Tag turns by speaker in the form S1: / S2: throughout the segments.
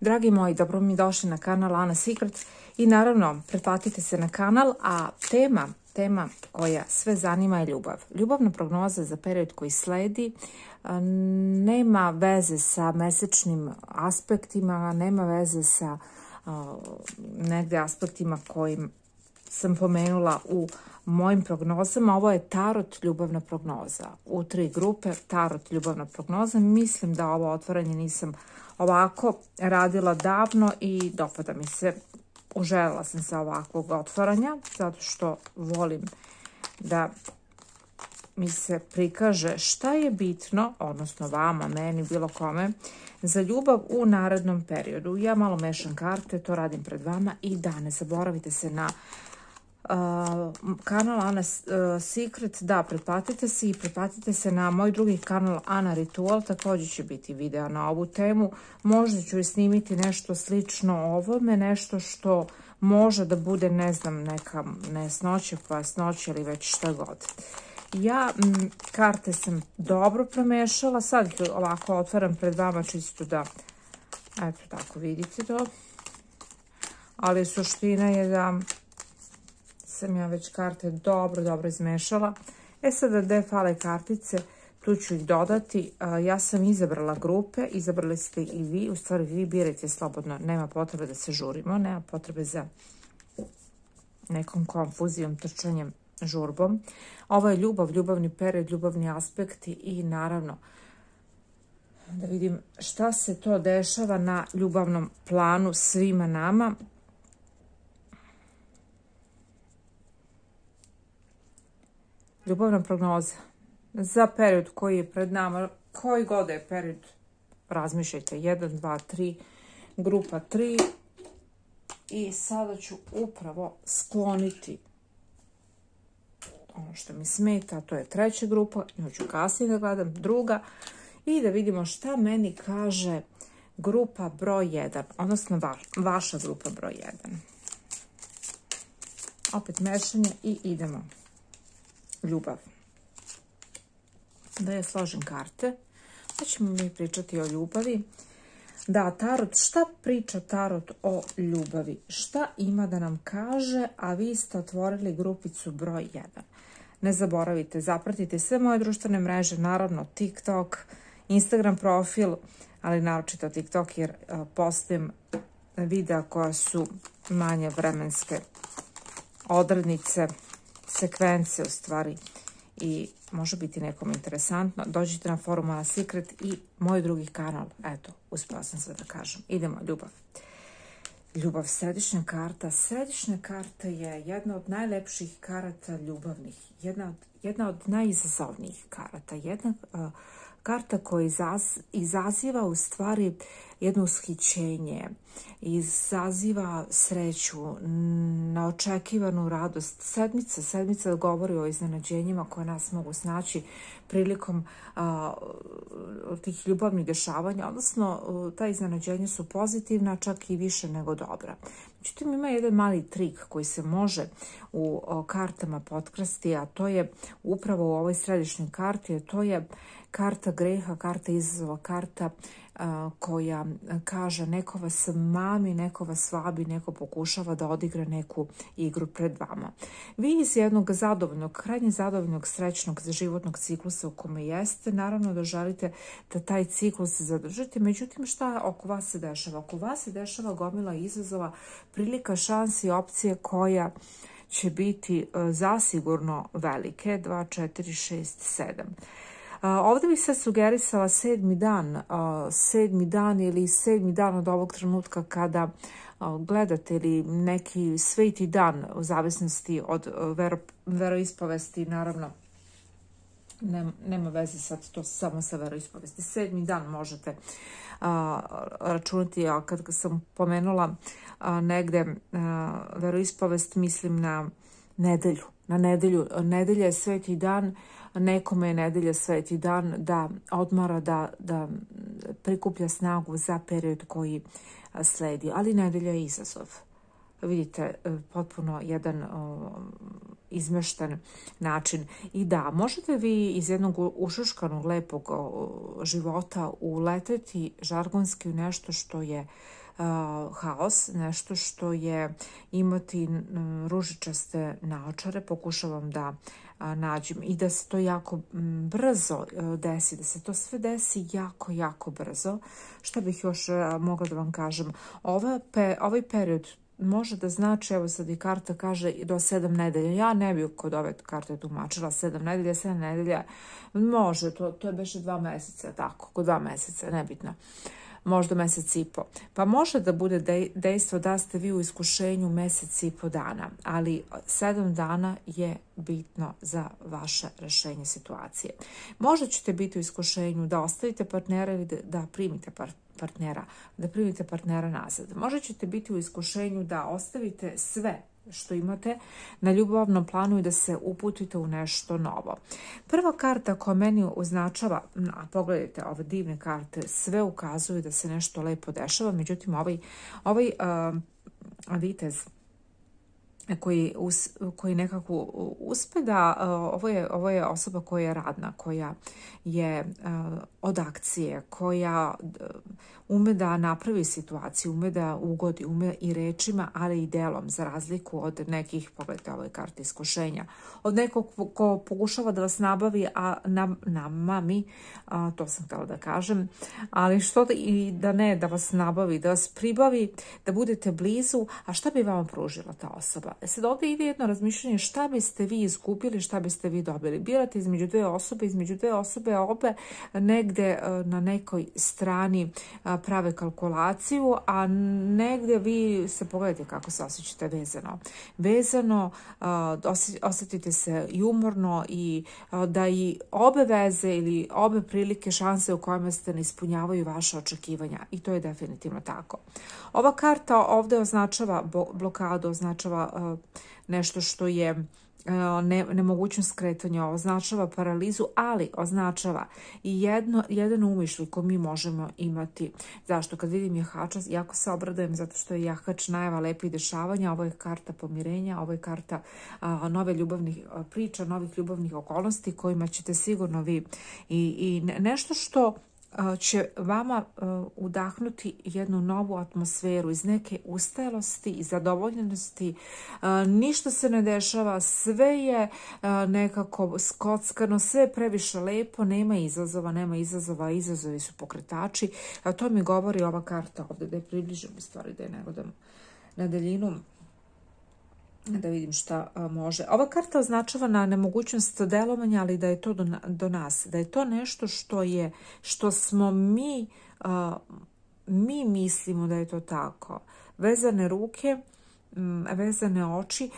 S1: Dragi moji, dobro mi došli na kanal Ana Secret i naravno pretplatite se na kanal, a tema koja sve zanima je ljubav. Ljubavna prognoza za period koji sledi nema veze sa mesečnim aspektima, nema veze sa negde aspektima kojim sam pomenula u mojim prognozama. Ovo je tarot ljubavna prognoza. U 3 grupe tarot ljubavna prognoza. Mislim da ovo otvaranje nisam ovako radila davno i dopada mi se. Uželjela sam se ovakvog otvaranja zato što volim da mi se prikaže šta je bitno, odnosno vama, meni, bilo kome, za ljubav u narednom periodu. Ja malo mešam karte, to radim pred vama i da ne zaboravite se na kanal Ana Secret, da, pretplatite se i pretplatite se na moj drugi kanal Ana Ritual, također će biti video na ovu temu, možda ću i snimiti nešto slično ovome, nešto što može da bude, ne znam, neka nesnoća, pojasnoća ili već šta god. Ja karte sam dobro promešala, sad ovako otvaram pred vama čisto da, eto tako vidite to, ali suština je da sam ja već karte dobro izmešala. Sada gde fale kartice, tu ću ih dodati. Ja sam izabrala grupe, izabrali ste i vi, u stvari vi birajte slobodno, nema potrebe da se žurimo, nema potrebe za nekom konfuzijom, trčanjem, žurbom. Ovo je ljubav, ljubavni period, ljubavni aspekti i naravno da vidim šta se to dešava na ljubavnom planu svima nama. Ljubavna prognoza za period koji je pred nama, koji god je period, razmišljajte, 1, 2, 3, grupa 3 i sada ću upravo skloniti ono što mi smeta, to je 3. grupa, nju ću kasnije da gledam, 2. i da vidimo šta meni kaže grupa broj 1, odnosno vaša grupa broj 1. Opet mešanje i idemo. Ljubav. Da ja složim karte, pa ćemo mi pričati o ljubavi. Da, tarot, šta priča tarot o ljubavi? Šta ima da nam kaže, a vi ste otvorili grupicu broj 1. Ne zaboravite, zapratite sve moje društvene mreže, naravno TikTok, Instagram profil, ali naročito TikTok jer postajem videa koja su manje vremenske odrednice, sekvence u stvari i može biti nekom interesantno. Dođite na forum Ana Secret i moj drugi kanal. Eto, uspela sam sve da kažem. Idemo, ljubav. Ljubav, središnja karta. Središnja karta je jedna od najlepših karata ljubavnih. Jedna od najizazovnijih karata. Jedna karta koja izaziva u stvari jedno ushićenje, izaziva sreću, neočekivanu radost. Sedmica govori o iznenađenjima koje nas mogu snaći prilikom tih ljubavnih dešavanja, odnosno ta iznenađenja su pozitivna, čak i više nego dobra. Međutim, ima jedan mali trik koji se može u kartama potkrasti, a to je upravo u ovoj središnjoj karti, a to je karta greha, karta izazova, karta koja kaže neko vas mami, neko vas vabi, neko pokušava da odigra neku igru pred vama. Vi iz jednog zadovoljnog, krajnje zadovoljnog, srećnog životnog ciklusa u kome jeste, naravno da želite da taj ciklus zadržite, međutim šta oko vas se dešava? Oko vas se dešava gomila izazova, prilika, šansi, opcije koja će biti zasigurno velike, 2, 4, 6, 7. Ovdje bih se sugerisala 7. dan ili 7. dan od ovog trenutka kada gledate ili neki sveti dan u zavisnosti od veroispovesti, naravno nema veze sad to samo sa veroispovesti. 7. dan možete računati, a kad sam pomenula negde veroispovest, mislim na nedelju. Nedelja je sveti dan, nekome je nedelja sveti dan da odmara, da prikuplja snagu za period koji sledi, ali nedelja je izazov. vidite, potpuno jedan izmešten način. I da, možete vi iz jednog ušuškanog, lepog života uleteti žargonski u nešto što je haos, nešto što je imati ružičaste naočare. Pokušavam da nađem i da se to jako brzo desi, da se to sve desi jako, jako brzo. Šta bih još mogla da vam kažem? Ovaj period može da znači, evo sad i karta kaže do 7 nedelja. Ja ne bih kod ove karte tumačila 7 nedelja, 7 nedelja. Može, to je beše 2 meseca, tako, kod 2 meseca, nebitno. Možda mesec i po. Pa može da bude dejstvo da ste vi u iskušenju mesec i po dana, ali 7 dana je bitno za vaše rešenje situacije. Možda ćete biti u iskušenju da ostavite partnera ili da primite partnera nazad. Možda ćete biti u iskušenju da ostavite sve što imate na ljubavnom planu i da se uputite u nešto novo. Prva karta koja meni označava, pogledajte ove divne karte, sve ukazuju da se nešto lepo dešava, međutim ovaj vitez koji nekako uspe da, ovo je osoba koja je radna, koja je od akcije, koja ume da napravi situaciju, ume da ugodi, ume i rečima, ali i delom, za razliku od nekih, pogledajte ove karte iskušenja, od nekog ko pokušava da vas nabavi, a namami, to sam htjela da kažem, ali što i da ne, da vas nabavi, da vas pribavi, da budete blizu, a šta bi vam pružila ta osoba? Sad ovdje ide jedno razmišljanje šta biste vi izgubili, šta biste vi dobili. Birate između dve osobe, obe negde na nekoj strani prave kalkulaciju, a negde vi se pogledajte kako se osjećate vezano, osjetite se i umorno i da i obe veze ili obe prilike, šanse u kojima ste ne ispunjavaju vaše očekivanja, i to je definitivno tako. Ova karta ovdje označava blokadu, označava nešto što je nemogućnost kretanja, označava paralizu, ali označava i jedan umišljaj koji mi možemo imati. Zašto? Kad vidim jahača, jako se obradujem zato što je jahač najava lepih dešavanja, ovo je karta pomirenja, ovo je karta nove ljubavnih priča, novih ljubavnih okolnosti kojima ćete sigurno vi i nešto što će vama udahnuti jednu novu atmosferu iz neke ustalosti i zadovoljenosti. Ništa se ne dešava, sve je nekako skockano, sve je previše lepo, nema izazova, izazovi su pokretači. To mi govori ova karta ovdje, da je približim u stvari, da je ne gledam na daljinu, da vidim šta može. Ova karta označava na nemogućnost delovanja, ali da je to do nas, da je to nešto što smo mi mislimo da je to tako. Vezane ruke, vezane oči,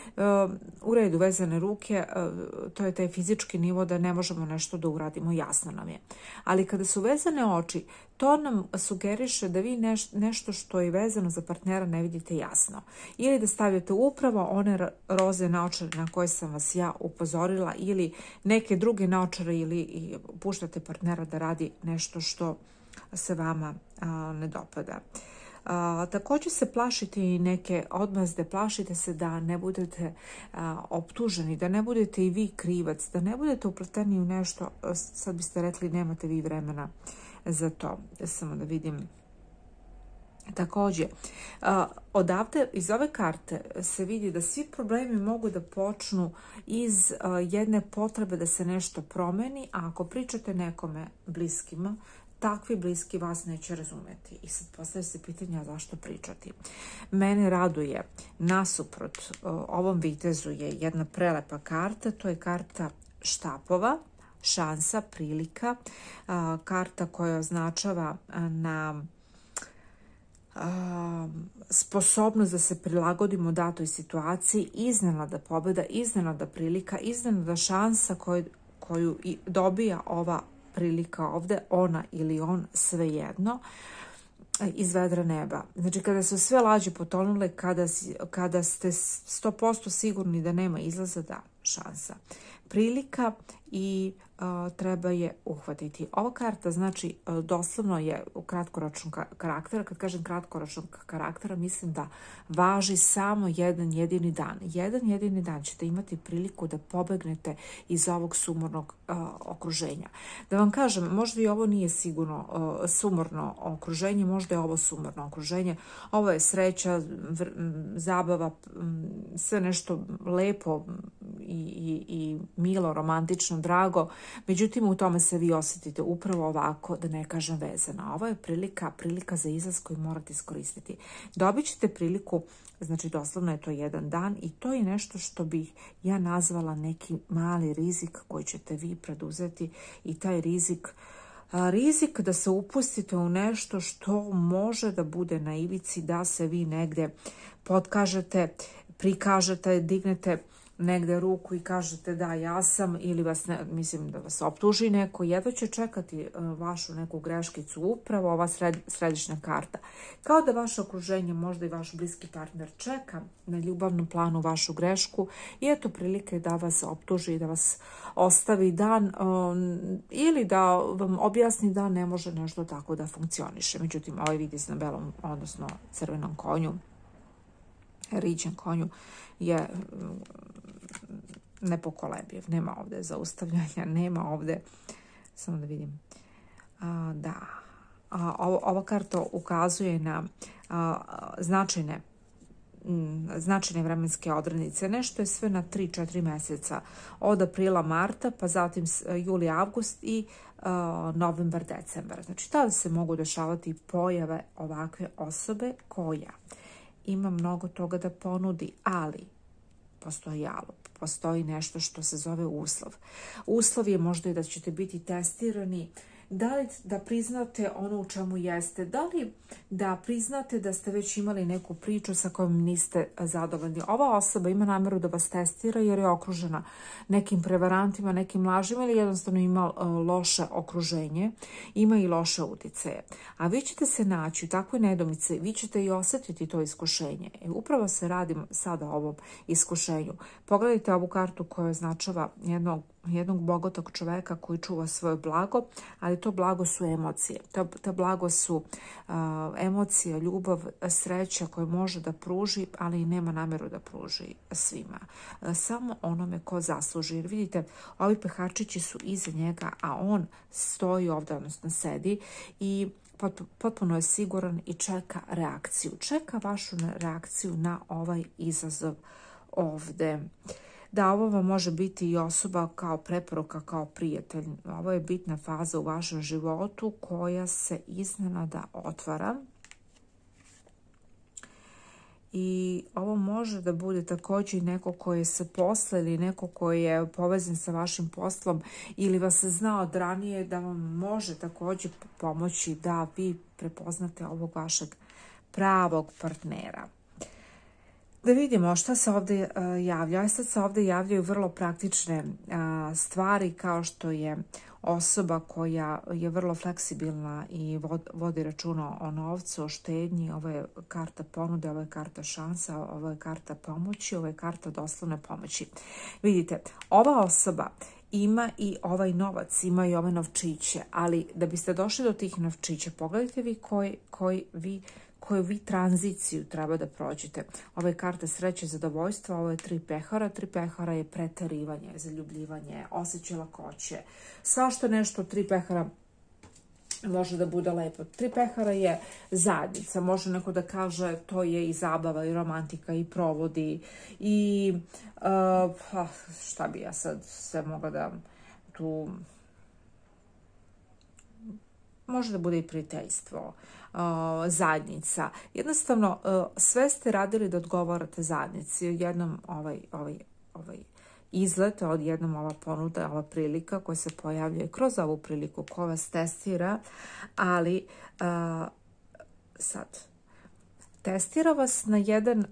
S1: u redu, vezane ruke, to je taj fizički nivo da ne možemo nešto da uradimo, jasno nam je. Ali kada su vezane oči, to nam sugeriše da vi nešto što je vezano za partnera ne vidite jasno. Ili da stavljate upravo one roze naočare na koje sam vas ja upozorila, ili neke druge naočare, ili puštate partnera da radi nešto što se vama ne dopada. Također se plašite i neke odmazde, plašite se da ne budete optuženi, da ne budete i vi krivac, da ne budete upleteni u nešto, sad biste rekli nemate vi vremena za to. Samo da vidim. Također, odavde iz ove karte se vidi da svi problemi mogu da počnu iz jedne potrebe da se nešto promeni, a ako pričate nekome bliskima, takvi bliski vas neće razumeti. I sad postavlja se pitanja zašto pričati. Mene raduje, nasuprot ovom vitezu je jedna prelepa karta, to je karta štapova, šansa, prilika, karta koja označava na sposobnost da se prilagodimo datoj situaciji, iznenada pobjeda, iznenada prilika, iznenada šansa koju dobija ova prilika ovdje, ona ili on, svejedno, iz vedra neba. Znači, kada su sve lađe potonule, kada ste 100% sigurni da nema izlaza, da, šansa. Prilika i treba je uhvatiti. Ova karta znači doslovno je kratkoročnog karaktera. Kad kažem kratkoročnog karaktera, mislim da važi samo jedan jedini dan. Jedan jedini dan ćete imati priliku da pobegnete iz ovog sumornog okruženja. Da vam kažem, možda i ovo nije sigurno sumorno okruženje, možda je ovo sumorno okruženje. Ovo je sreća, zabava, sve nešto lepo i milo, romantično, drago. Međutim, u tome se vi osjetite upravo ovako, da ne kažem vezana. Ovo je prilika za izlaz koju morate iskoristiti. Dobit ćete priliku, znači doslovno je to jedan dan i to je nešto što bih ja nazvala neki mali rizik koji ćete vi preduzeti i taj rizik da se upustite u nešto što može da bude na ivici, da se vi negde potkažete, prikažete, dignete negde ruku i kažete da ja sam, ili mislim da vas optuži neko, jedva će čekati vašu neku greškicu, upravo ova središnja karta. Kao da vaše okruženje, možda i vaš bliski partner čeka na ljubavnom planu vašu grešku i eto prilike da vas optuži, da vas ostavi dan ili da vam objasni da ne može nešto tako da funkcioniše. Međutim, ovaj vidi se na belom, odnosno crvenom konju, riđem konju, je nepokolebljiv. Nema ovde zaustavljanja, nema ovde, samo da vidim, da, ova karta ukazuje na značajne vremenske odrednice. Nešto je sve na 3-4 meseca. Od aprila, marta, pa zatim juli, avgust i novembar, decembar. Znači, tada se mogu dešavati pojave ovakve osobe koja ima mnogo toga da ponudi, ali postoji nešto što se zove uslov. Uslov je možda i da ćete biti testirani, da li da priznate ono u čemu jeste, da li da priznate da ste već imali neku priču sa kojom niste zadovoljni. Ova osoba ima nameru da vas testira jer je okružena nekim prevarantima, nekim lažima ili jednostavno ima loše okruženje, ima i loše uticaje. A vi ćete se naći u takvoj nedomici, vi ćete i osjetiti to iskušenje. Upravo se radi sada o ovom iskušenju. Pogledajte ovu kartu koja označava jednog bogatog čoveka koji čuva svoje blago, ali to blago su emocije. To blago su emocija, ljubav, sreća koje može da pruži, ali i nema nameru da pruži svima. Samo onome ko zasluži. Jer vidite, ovi pehačići su iza njega, a on stoji ovdje, odnosno sedi i potpuno je siguran i čeka reakciju. Čeka vašu reakciju na ovaj izazov ovde. Da, ovo vam može biti i osoba kao preporuka, kao prijatelj. Ovo je bitna faza u vašem životu koja se iznenada otvara. I ovo može da bude također neko koji je sa posla ili neko koji je povezan sa vašim poslom ili vas zna od ranije, da vam može također pomoći da vi prepoznate ovog vašeg pravog partnera. Da vidimo šta se ovdje javlja. Sad se ovdje javljaju vrlo praktične stvari, kao što je osoba koja je vrlo fleksibilna i vodi računa o novcu, o štednji. Ovo je karta ponude, ovo je karta šansa, ovo je karta pomoći, ovo je karta doslovne pomoći. Vidite, ova osoba ima i ovaj novac, ima i ove novčiće, ali da biste došli do tih novčića, pogledajte vi koju vi tranziciju treba da prođete. Ovo je karta sreće, zadovoljstva, ovo je 3 pehara. 3 pehara je preterivanje, zaljubljivanje, osjećaj lakoće. Svašta nešto 3 pehara može da bude lepo. 3 pehara je zajednica. Može neko da kaže to je i zabava i romantika i provodi i šta bi ja sad sve mogla da tu... Može da bude i prijateljstvo, zajednica. Jednostavno, sve ste radili da odgovarate zajednici. Jednom ovaj izlet, odjednom ova ponuda, ova prilika koja se pojavljuje kroz ovu priliku koja vas testira, ali sad, testira vas na jedan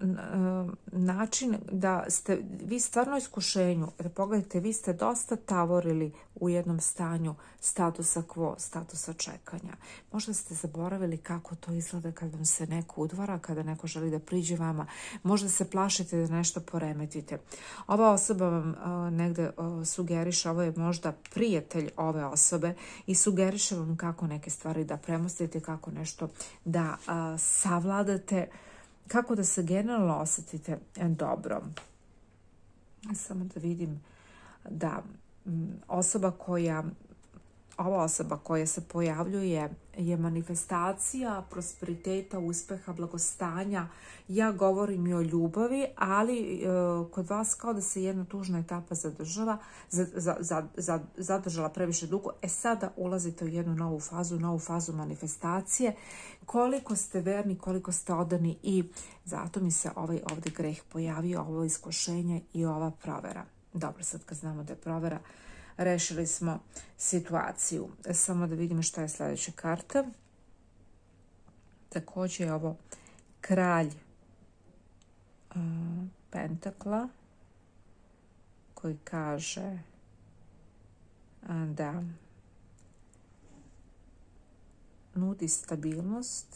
S1: način da ste vi stvarno iskušenju, jer pogledajte, vi ste dosta tavorili u jednom stanju statusa quo, statusa čekanja. Možda ste zaboravili kako to izgleda kad vam se neko udvara, kada neko želi da priđe vama. Možda se plašite da nešto poremetite. Ova osoba vam negde sugeriše, ovo je možda prijatelj ove osobe i sugeriše vam kako neke stvari da premostite, kako nešto da savladate, kako da se generalno osjetite dobro. Samo da vidim da ova osoba koja se pojavljuje je manifestacija prosperiteta, uspeha, blagostanja. Ja govorim i o ljubavi, ali kod vas kao da se jedna tužna etapa zadržala previše dugo. Sada ulazite u jednu novu fazu manifestacije. Koliko ste verni, koliko ste odani i zato mi se ovaj ovdje greh pojavio, ovo iskušenje i ova provera. Dobro, sad kad znamo da je provera, rešili smo situaciju. Samo da vidimo šta je sljedeća karta. Također je ovo kralj pentakla koji kaže da nudi stabilnost,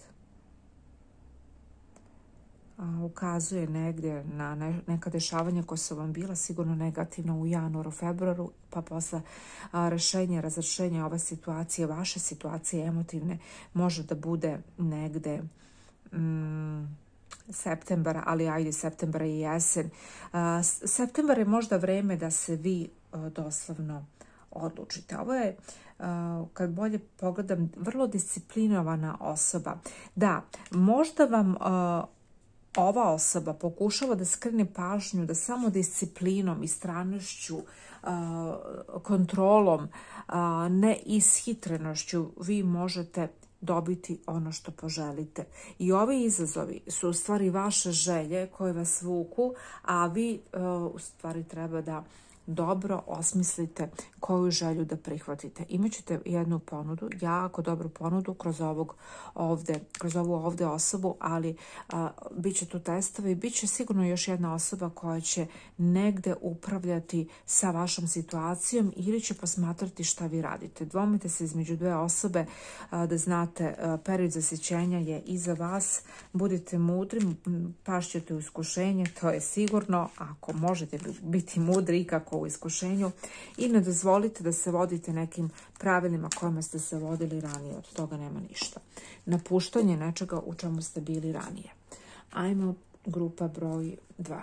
S1: ukazuje negdje na neka dešavanja koja su vam bila sigurno negativna u januaru, februaru, pa posle rešenja, razrešenja ove situacije, vaše situacije emotivne, može da bude negde septembara, ali ajde, septembra i jesen. Septembar je možda vreme da se vi doslovno odlučite. Ovo je, kad bolje pogledam, vrlo disciplinovana osoba. Da, možda vam ova osoba pokušava da skrene pažnju, da samo disciplinom, istrajnošću, kontrolom, neishitrenošću vi možete dobiti ono što poželite. I ovi izazovi su u stvari vaše želje koje vas vuku, a vi u stvari treba da dobro osmislite koju želju da prihvatite. Imaćete jednu ponudu, jako dobru ponudu kroz ovu ovdje osobu, ali bit će tu testovi, bit će sigurno još jedna osoba koja će negde upravljati sa vašom situacijom ili će posmatrati šta vi radite. Dvomite se između dve osobe, da znate, period zasićenja je iza vas, budite mudri, pašćete u iskušenje, to je sigurno, ako možete biti mudri ikako u iskušenju, i ne dozvolite da se vodite nekim pravilima kojima ste se vodili ranije. Od toga nema ništa. Napuštanje nečega u čemu ste bili ranije. Ajmo grupa broj 2.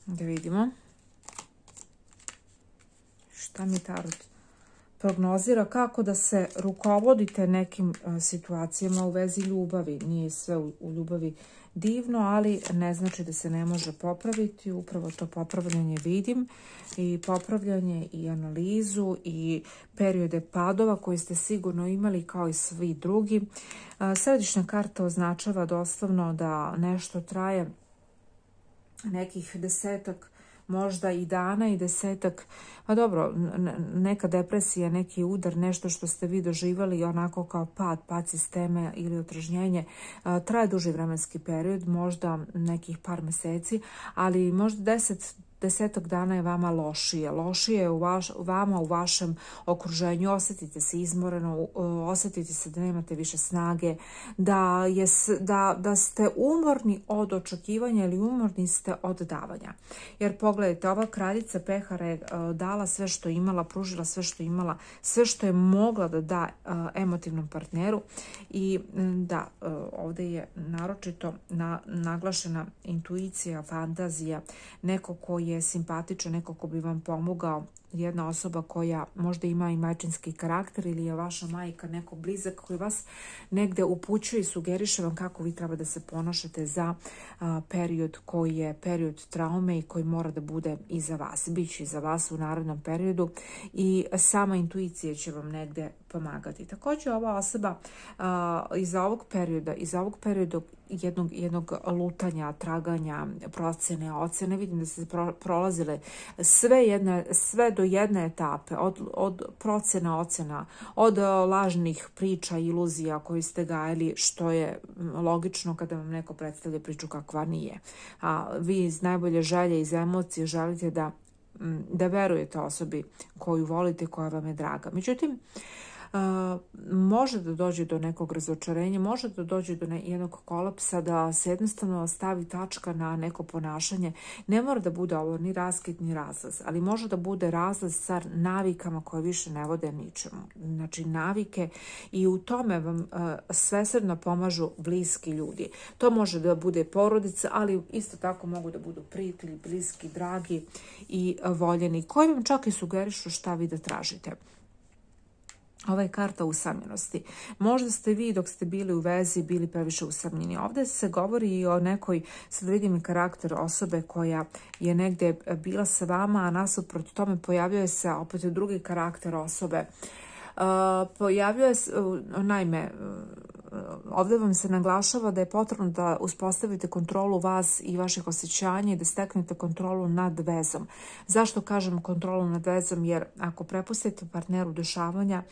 S1: Da vidimo šta mi tarot prognozira, kako da se rukovodite nekim situacijama u vezi ljubavi. Nije sve u ljubavi divno, ali ne znači da se ne može popraviti. Upravo to popravljanje vidim, i popravljanje i analizu i periode padova koje ste sigurno imali kao i svi drugi. Središnja karta označava doslovno da nešto traje nekih 10 možda i dana i 10, pa dobro, neka depresija, neki udar, nešto što ste vi doživali onako kao pad sistema ili otrežnjenje, traje duži vremenski period, možda nekih par meseci, ali možda 10 dana je vama lošije. Lošije je vama u vašem okruženju. Osjetite se izmoreno, osjetite se da nemate više snage, da ste umorni od očekivanja ili umorni ste od davanja. Jer pogledajte, ova kraljica pehara je dala sve što je imala, pružila sve što je imala, sve što je mogla da da emotivnom partneru. I da, ovdje je naročito naglašena intuicija, fantazija, neko koji je simpatičan, neko ko bi vam pomogao, jedna osoba koja možda ima i majčinski karakter ili je vaša majka, neko blizak koji vas negde upućuje i sugeriše vam kako vi treba da se ponašate za period koji je period traume i koji mora da bude iza vas. Biće iza vas u narednom periodu i sama intuicija će vam negde pomagati. Također ova osoba iz ovog perioda jednog lutanja, traganja, procjene, ocjene. Vidim da ste prolazile sve do jedne etape, od procjena, ocjena, od lažnih priča, iluzija koji ste gajili, što je logično kada vam neko predstavlja priču kakva nije. A vi iz najbolje želje, iz emocije želite da verujete osobi koju volite, koja vam je draga. Međutim, može da dođe do nekog razočarenja, može da dođe do jednog kolapsa, da se jednostavno stavi tačka na neko ponašanje. Ne mora da bude ovo ni raskid ni razlaz, ali može da bude razlaz sa navikama koje više ne vode ničemu. Znači navike, i u tome vam svesrdno pomažu bliski ljudi. To može da bude porodica, ali isto tako mogu da budu prijatelji, bliski, dragi i voljeni, koji vam čak i sugerišu šta vi da tražite. Ova je karta usamljenosti. Možda ste vi dok ste bili u vezi bili previše usamljeni. Ovdje se govori i o nekoj, sad vidim karakter osobe koja je negdje bila sa vama, a nasuprot tome pojavljuje se opet drugi karakter osobe. Pojavljuje se, naime, ovdje vam se naglašava da je potrebno da uspostavite kontrolu vas i vaših osjećanja i da steknete kontrolu nad vezom. Zašto kažem kontrolu nad vezom? Jer ako prepustite partneru dešavanja,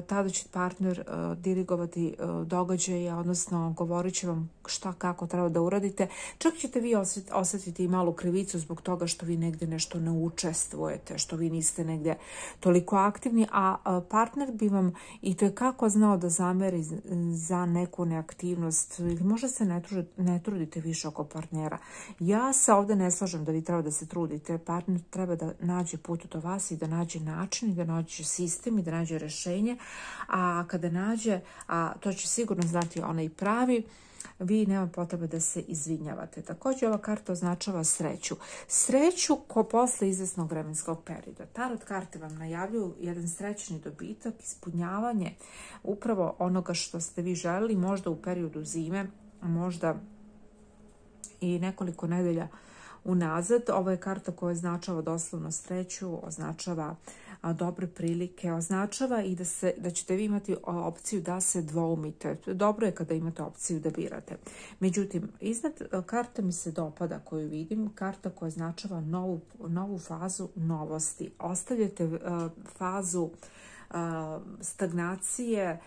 S1: tada će partner dirigovati događaje, odnosno govorit će vam šta, kako treba da uradite. Čak ćete vi osjetiti i malu krivicu zbog toga što vi negdje nešto ne učestvujete, što vi niste negdje toliko aktivni, a partner bi vam i tekako znao da zameri za neku neaktivnost, ili možda se ne trudite više oko partnera. Ja se ovdje ne slažem da vi treba da se trudite. Partner treba da nađe put do vas i da nađe način i da nađe sistem i da nađe rješenje, a kada nađe, a to će sigurno znati onaj pravi, vi nema potrebe da se izvinjavate. Također ova karta označava sreću. Sreću ko posle izvesnog vremenskog perioda. Tarot karte vam najavljuju jedan srećni dobitak, ispunjavanje upravo onoga što ste vi želeli, možda u periodu zime, možda i nekoliko nedelja unazad. Ovo je karta koja označava doslovno sreću, označava dobre prilike, označava i da ćete vi imati opciju da se dvoumite. Dobro je kada imate opciju da birate. Međutim, iznad karta mi se dopada koju vidim, karta koja označava novu fazu novosti. Ostavljate fazu stagnacije,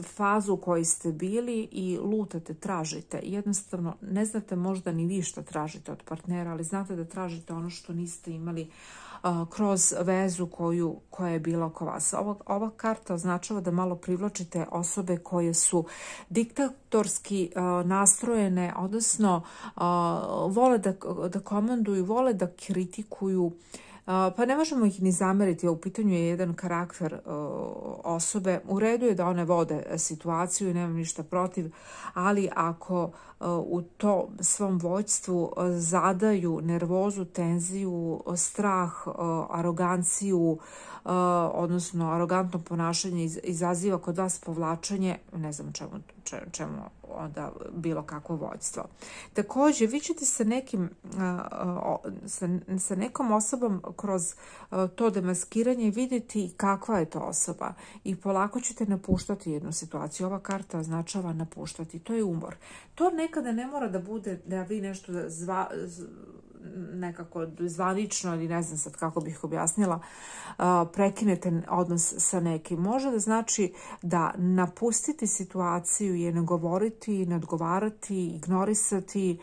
S1: fazu u kojoj ste bili i lutate, tražite. Jednostavno, ne znate možda ni vi što tražite od partnera, ali znate da tražite ono što niste imali kroz vezu koja je bila oko vas. Ova karta označava da malo privlačite osobe koje su diktatorski nastrojene, odnosno vole da komanduju, vole da kritikuju, pa ne možemo ih ni zameriti, u pitanju je jedan karakter osobe. U redu je da one vode situaciju i nemam ništa protiv, ali ako u to svom vođstvu zadaju nervozu, tenziju, strah, aroganciju, odnosno arogantno ponašanje izaziva kod vas povlačenje, ne znam čemu onda bilo kakvo vođstvo. Također, vi ćete sa nekom osobom kroz to demaskiranje vidjeti kakva je to osoba i polako ćete napuštati jednu situaciju. Ova karta označava napuštati, to je umor. To nekada ne mora da bude da vi nešto nekako zvanično, ili ne znam sad kako bih objasnila, prekinete odnos sa nekim. Može da znači da napustiti situaciju je ne govoriti, ne odgovarati, ignorisati,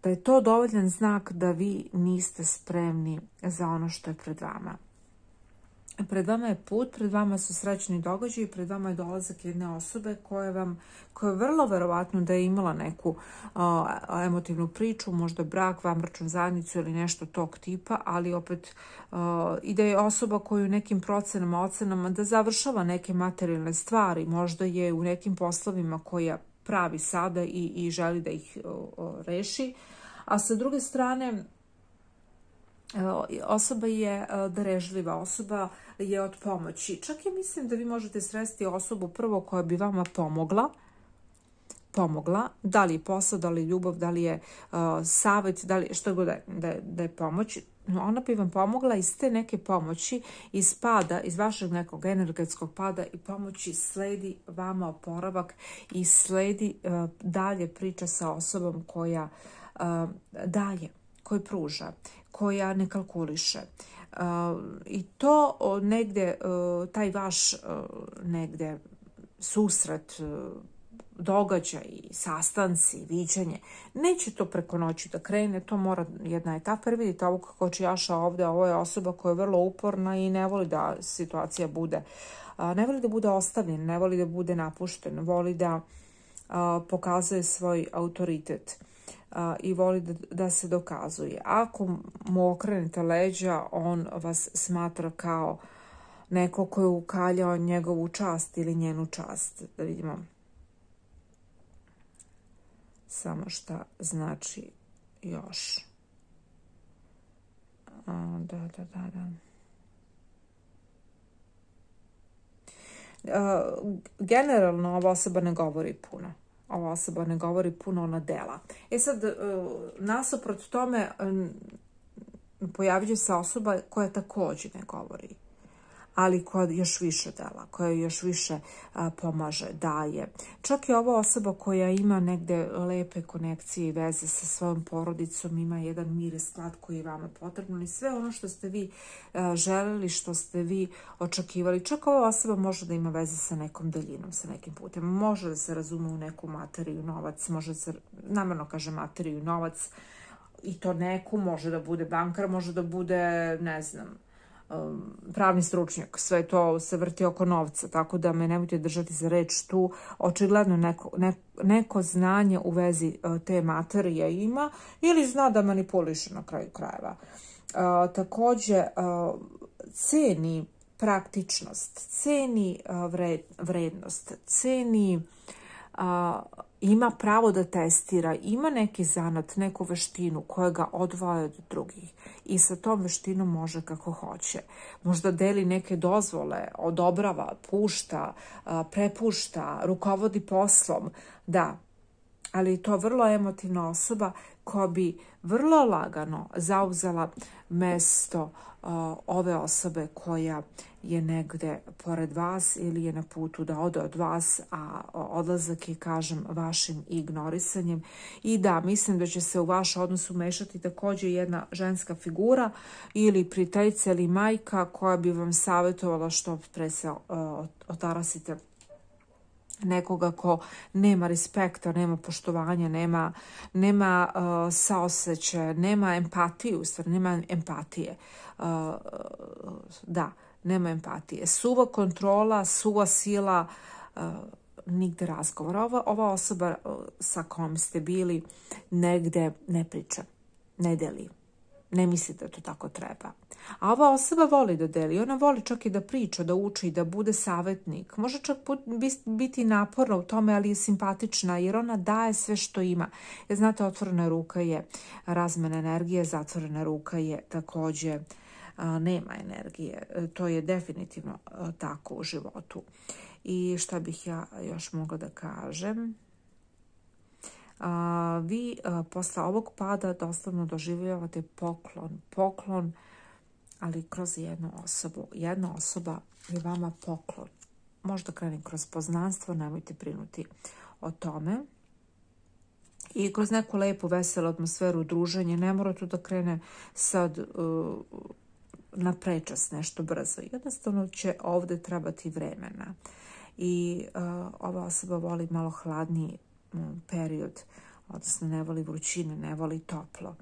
S1: da je to dovoljan znak da vi niste spremni za ono što je pred vama. Pred vama je put, pred vama su srećni događaji, pred vama je dolazak jedne osobe koja je vrlo verovatno da je imala neku emotivnu priču, možda brak, vanbračnu zajednicu ili nešto tog tipa, ali opet i da je osoba koju nekim procenama, ocenama da završava neke materijalne stvari, možda je u nekim poslovima koja pravi sada i želi da ih reši, a sa druge strane osoba je darežljiva, osoba je od pomoći. Čak i mislim da vi možete sresti osobu prvo koja bi vama pomogla, da li je posao, da li je ljubav, da li je savjet, da li što god da je pomoć. ona bi vam pomogla iz te neke pomoći, iz pada, iz vašeg nekog energetskog pada i pomoći sledi vama oporavak i sledi dalje priča sa osobom koja daje, koji pruža, koja ne kalkuliše. I to negde, taj vaš negde susret, događaj, sastanci, viđanje, neće to preko noći da krene, to mora jedna etapa, jer vidite ovog kočijaša ovde, ovo je osoba koja je vrlo uporna i ne voli da situacija bude, ne voli da bude ostavljen, ne voli da bude napušten, voli da pokazuje svoj autoritet i voli da se dokazuje. Ako mu okrenete leđa, on vas smatra kao neko ko je ukaljao njegovu čast ili njenu čast. Da vidimo samo šta znači još. Da. Generalno ova osoba ne govori puno. Ova osoba ne govori puno, ona dela. Sad, nasuprot tome pojavlja se osoba koja također ne govori, ali koja još više dela, koja još više pomaže, daje. Čak i ova osoba koja ima negde lepe konekcije i veze sa svojom porodicom, ima jedan mir i sklad koji je vama potrebno i sve ono što ste vi želeli, što ste vi očekivali. Čak ova osoba može da ima veze sa nekom daljinom, sa nekim putem. Može da se razume u neku materiju, novac, može da se, namerno kaže materiju, novac, i to neku, može da bude bankar, može da bude, ne znam, pravni stručnjak, sve to se vrti oko novca, tako da me nemojte držati za reč tu. Očigledno neko znanje u vezi te materije ima ili zna da manipuliše na kraju krajeva. Također ceni praktičnost, ceni vrednost, ceni ima pravo da testira, ima neki zanat, neku veštinu koja ga odvaja od drugih i sa tom veštinom može kako hoće. Možda deli neke dozvole, odobrava, pušta, prepušta, rukovodi poslom, da, ali je to vrlo emotivna osoba koja bi vrlo lagano zauzela mesto ove osobe koja je negde pored vas ili je na putu da ode od vas, a odlazak je, kažem, vašim ignorisanjem. I da, mislim da će se u vaš odnos umešati također jedna ženska figura ili prijateljica ili majka koja bi vam savjetovala što pre se otarasite nekoga ko nema respekta, nema poštovanja, nema saosećaja, nema empatiju, stvar, nema empatije. Da, nema empatije. Suva kontrola, suva sila, nigde razgovora. Ova osoba sa kojom ste bili negde ne priča, ne deli. Ne misli da to tako treba. A ova osoba voli da deli. Ona voli čak i da priča, da uči, da bude savjetnik. Može čak biti naporna u tome, ali je simpatična jer ona daje sve što ima. Jer znate, otvorena ruka je razmena energije, zatvorena ruka je također nema energije. To je definitivno tako u životu. I šta bih ja još mogla da kažem? Vi posle ovog pada doslovno doživljavate poklon, ali kroz jednu osobu. Jedna osoba je vama poklon. Možda krene kroz poznanstvo, nemojte brinuti o tome. I kroz neku lepu, veselu atmosferu, druženje, ne mora to da krene sad na prečas nešto brzo. Jednostavno će ovdje trebati vremena. I ova osoba voli malo hladniji period, odnosno ne voli vrućine, ne voli toplo.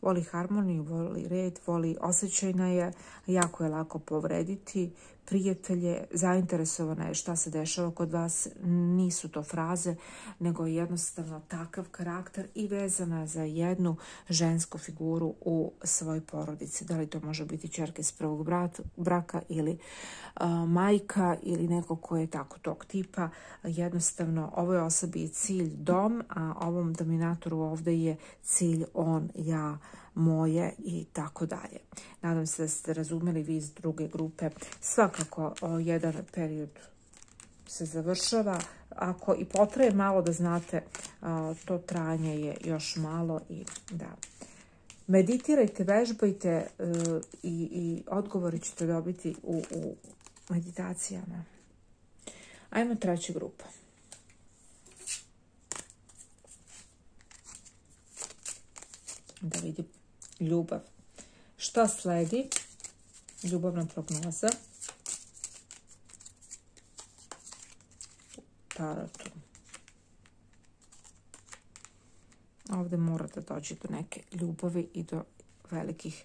S1: Voli harmoniju, voli red, voli osjećajna je, jako je lako povrediti prijatelje, zainteresovana je šta se dešava kod vas, nisu to fraze, nego je jednostavno takav karakter i vezana za jednu žensku figuru u svojoj porodici. Da li to može biti ćerka iz prvog braka ili majka ili neko ko je tako tog tipa. Jednostavno, ovoj osobi je cilj dom, a ovom dominatoru ovdje je cilj on, ja, moje i tako dalje. Nadam se da ste razumeli vi iz druge grupe. Svakako jedan period se završava. Ako i potraje malo, da znate, to trajanje je još malo i da, Meditirajte, vežbajte i odgovori ćete dobiti u meditacijama. Ajmo treća grupa. Da vidim ljubav. Šta sledi? Ljubavna prognoza. Tarotu. Ovdje mora da dođe do neke ljubavi i do velikih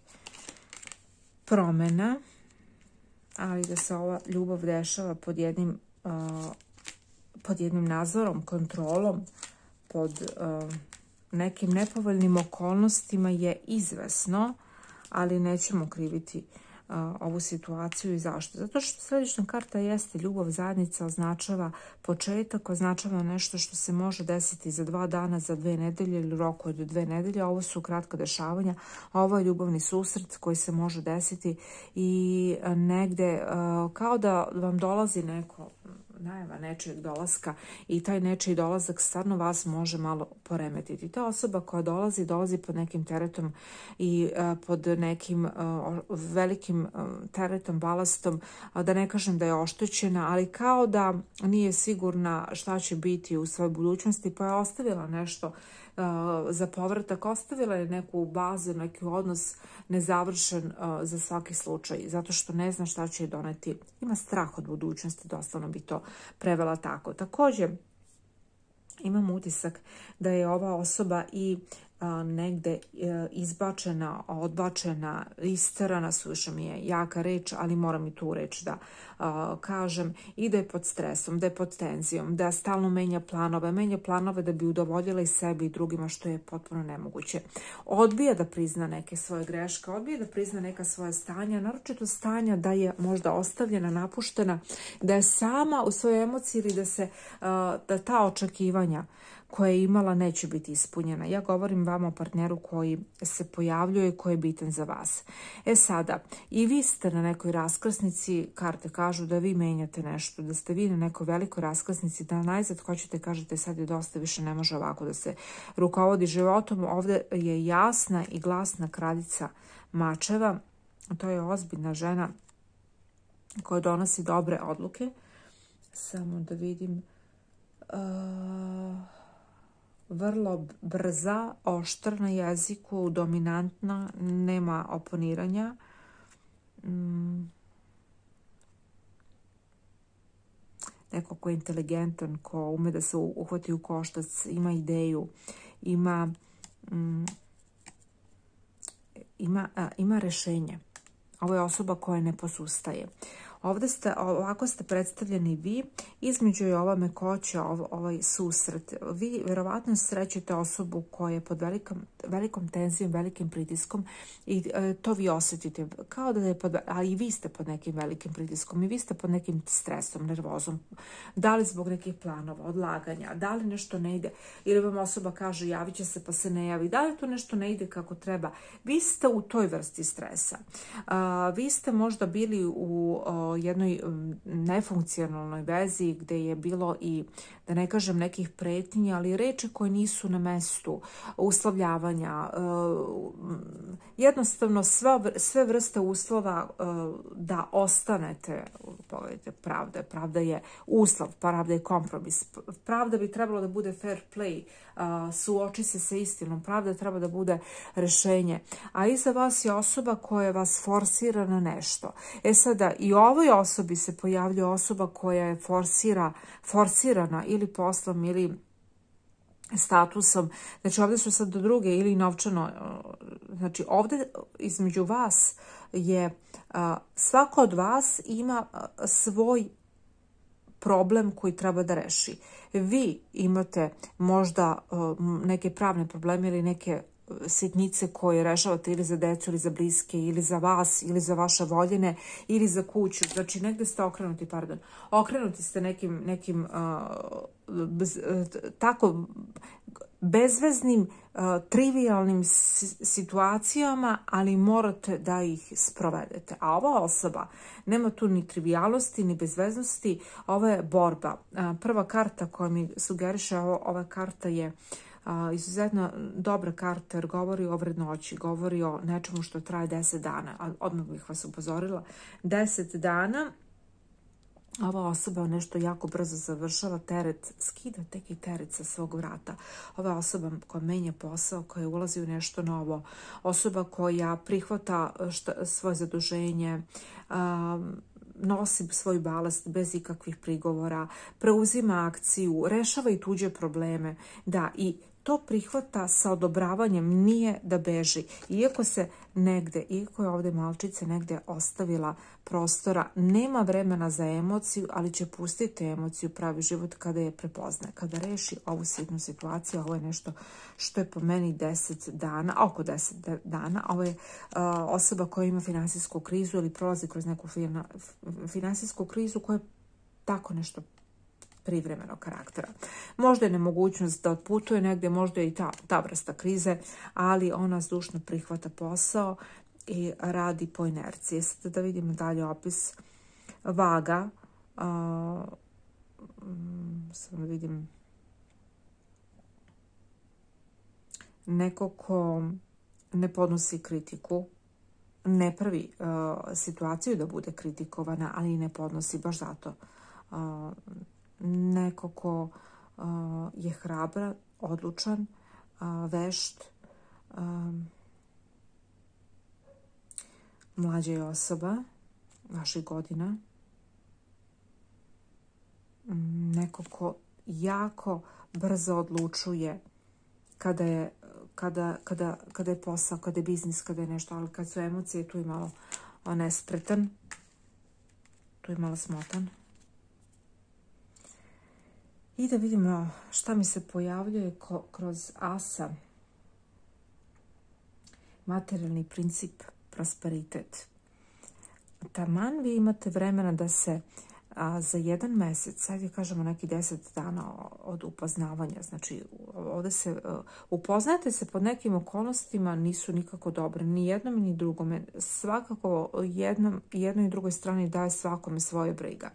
S1: promjena, ali da se ova ljubav dešava pod jednim nadzorom, kontrolom, pod nekim nepovoljnim okolnostima je izvesno, ali nećemo kriviti ovu situaciju. I zašto? Zato što središnja karta jeste ljubav, zajednica, označava početak, označava nešto što se može desiti za 2 dana, za 2 nedelje ili u roku od 2 nedelje. Ovo su kratka dešavanja, ovo je ljubavni susret koji se može desiti i negde kao da vam dolazi neko najava nečijeg dolaska i taj nečiji dolazak stvarno vas može malo poremetiti. Ta osoba koja dolazi pod nekim teretom i pod nekim velikim teretom, balastom, da ne kažem da je oštećena, ali kao da nije sigurna šta će biti u svojoj budućnosti, pa je ostavila nešto za povratak, ostavila je neku bazu, neki odnos nezavršen za svaki slučaj, zato što ne zna šta će doneti. Ima strah od budućnosti, doslovno bi to prevela tako. Također, imam utisak da je ova osoba i negde izbačena, odbačena, isterana, suviše mi je jaka reč, ali moram i tu reč da kažem, i da je pod stresom, da je pod tenzijom, da stalno menja planove da bi udovoljila i sebi i drugima, što je potpuno nemoguće. Odbija da prizna neke svoje greške, odbija da prizna neka svoja stanja, naročito stanja da je možda ostavljena, napuštena, da je sama u svojoj emociji ili da ta očekivanja koja je imala neće biti ispunjena. Ja govorim vama o partneru koji se pojavljuje i koji je bitan za vas. Sada, i vi ste na nekoj raskrsnici, karte kažu da vi menjate nešto, da ste vi na nekoj velikoj raskrsnici, da najzad hoćete, kažete sad je dosta, više ne može ovako da se rukovodi životom. Ovdje je jasna i glasna kraljica mačeva, to je ozbiljna žena koja donosi dobre odluke. Samo da vidim... vrlo brza, oštra na jeziku, dominantna, nema oponiranja. Neko ko je inteligentan, ko ume da se uhvati u koštac, ima ideju, ima rešenje. Ovo je osoba koja ne posustaje. Ovako ste predstavljeni vi, između je ova mekoća, ovaj susret. Vi verovatno srećete osobu koja je pod velikom tenzijom, velikim pritiskom i to vi osjetite. Kao da je ali i vi ste pod nekim velikim pritiskom i vi ste pod nekim stresom, nervozom. Da li zbog nekih planova, odlaganja, da li nešto ne ide, ili vam osoba kaže javit će se pa se ne javi, da li to nešto ne ide kako treba. Vi ste u toj vrsti stresa. Vi ste možda bili u jednoj nefunkcionalnoj vezi gdje je bilo i, da ne kažem, nekih pretnji, ali reči koje nisu na mestu, uslovljavanja, jednostavno sve vrste uslova da ostanete. Pogledajte, pravda je uslov, pravda je kompromis. Pravda bi trebalo da bude fair play, suoči se sa istinom, pravda treba da bude rešenje. A iza vas je osoba koja vas forsira na nešto. Sada, i ovoj osobi se pojavljuje osoba koja je forsirana ili poslom ili statusom. Znači, ovdje su sad do druge ili novčano. Znači, ovdje između vas je, svako od vas ima svoj problem koji treba da reši. Vi imate možda neke pravne probleme ili neke sitnice koje rešavate ili za decu ili za bliske ili za vas ili za vaše voljene ili za kuću. Znači negdje ste okrenuti ste nekim tako bezveznim, trivialnim situacijama, ali morate da ih sprovedete. A ova osoba nema tu ni trivialnosti, ni bezveznosti, ovo je borba. Prva karta koja mi sugeriše ova karta je Izuzetno dobra karta jer govori o vrednoći, govori o nečemu što traje 10 dana. A odmah bih vas upozorila, 10 dana ova osoba nešto jako brzo završava, skida neki teret sa svog vrata. Ova osoba koja menja posao, koja ulazi u nešto novo, osoba koja prihvata svoje zaduženje, nosi svoj balast bez ikakvih prigovora, preuzima akciju, rešava i tuđe probleme. Da, i to prihvata sa odobravanjem, nije da beži. Iako je ovdje malčica negdje ostavila prostora, nema vremena za emociju, ali će pustiti emociju pravi život kada je prepozna. Kada reši ovu sitnu situaciju, ovo je nešto što je po meni 10 dana, oko 10 dana. Ovo je osoba koja ima finansijsku krizu ili prolazi kroz neku finansijsku krizu koja je tako nešto privremenog karaktera. Možda je nemogućnost da otputuje negdje, možda je i ta vrsta krize, ali ona zdušno prihvata posao i radi po inerciji. Sad da vidimo dalje opis. Vaga. Samo vidim. Neko ko ne podnosi kritiku, ne pravi situaciju da bude kritikovana, ali i ne podnosi baš zato. Neko ko je hrabran, odlučan, vešt, mlađa je osoba vaših godina, neko ko jako brzo odlučuje kada je posao, kada je biznis, kada je nešto, ali kad su emocije, tu je malo nespretan, tu je malo smotan. I da vidimo šta mi se pojavljuje kroz asa. Materijalni princip, prosperitet. Taman vi imate vremena da se za 1 mesec, ajde kažemo neki 10 dana od upoznavanja, znači ovdje se upoznajete se pod nekim okolnostima, nisu nikako dobre, ni jednom ni drugome. Svakako jednoj i drugoj strani daje svakome svoje briga.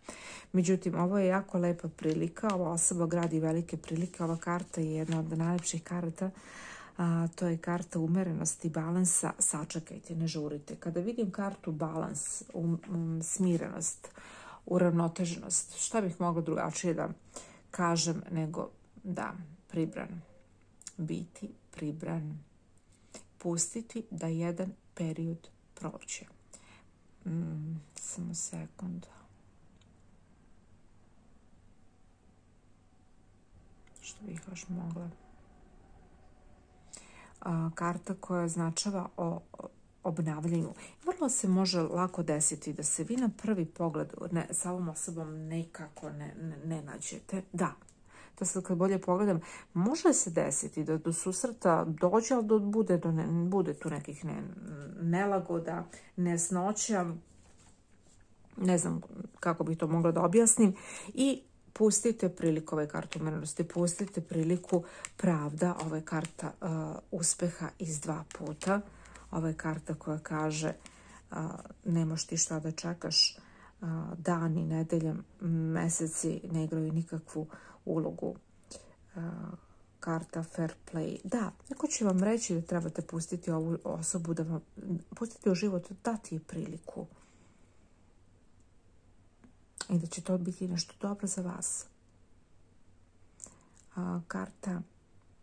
S1: Međutim, ovo je jako lepa prilika, ova osoba gradi velike prilike, ova karta je jedna od najlepših karata. To je karta umerenosti, balansa. Sačekajte, ne žurite. Kada vidim kartu balans, smirenost, uravnoteženost, šta bih mogla drugačije da kažem nego da, pribran. Biti pribran. Pustiti da jedan period prođe. Samo sekund. Što bih još mogla? Karta koja označava o obnavljanju. Vrlo se može lako desiti da se vi na prvi pogled sa ovom osobom nekako ne nađete. Da, to sad kad bolje pogledam, može se desiti da do susreta dođe, ali bude tu nekih nelagoda, nesnoća, ne znam kako bih to mogla da objasnim, i pustite priliku, ove kartu umerenosti, pustite priliku pravda, ova je karta uspeha iz 2 puta. Ova je karta koja kaže nemaš ti šta da čekaš, dani, nedelje, meseci ne igraju nikakvu ulogu. Karta fair play. Da, neko će vam reći da trebate pustiti ovu osobu, da vam pustiti u život, dati je priliku. I da će to biti nešto dobro za vas. Karta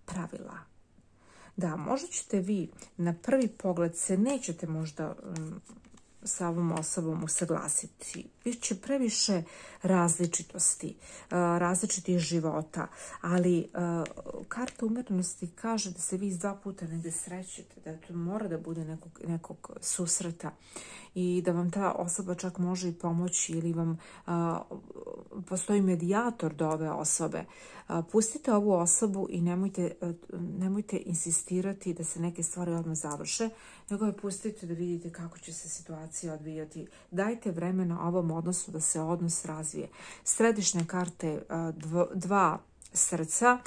S1: pravila. Da, možda ćete vi na prvi pogled se nećete možda sa ovom osobom usaglasiti. Biće previše različitosti, različitih života, ali karta umerenosti kaže da se vi iz 2 puta negdje srećete, da to mora da bude nekog susreta i da vam ta osoba čak može i pomoći ili vam postoji medijator do ove osobe. Pustite ovu osobu i nemojte insistirati da se neke stvari odmah završe, nego je pustite da vidite kako će se situacija odvijati. Dajte vremena ovom odnosu da se odnos razvije. Središnja karta je 2 srca.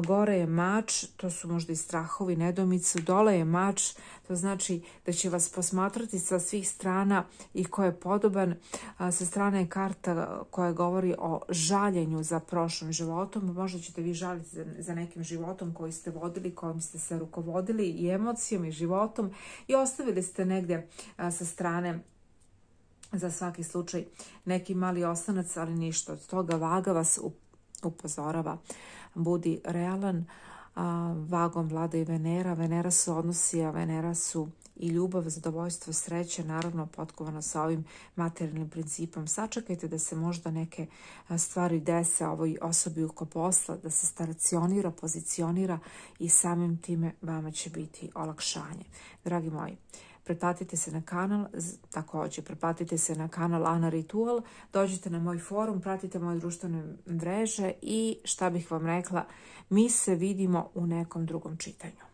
S1: Gore je mač, to su možda i strahovi, nedomice. Dole je mač, to znači da će vas posmatrati sa svih strana i ko je podoban. Sa strane je karta koja govori o žaljenju za prošlim životom. Možda ćete vi žaliti za nekim životom koji ste vodili, kojim ste se rukovodili i emocijom i životom i ostavili ste negdje sa strane za svaki slučaj neki mali osanac, ali ništa od toga. Vaga vas upozorava, budi realan. Vagom vlada i Venera. Venera su odnosi, a Venera su i ljubav, zadovoljstvo, sreće, naravno potkovano sa ovim materijalnim principom. Sačekajte da se možda neke stvari dese ovoj osobi oko posla, da se stacionira, pozicionira i samim time vama će biti olakšanje. Dragi moji, pretplatite se na kanal, također pretplatite se na kanal Ana Ritual, dođite na moj forum, pratite moje društvene mreže i šta bih vam rekla, mi se vidimo u nekom drugom čitanju.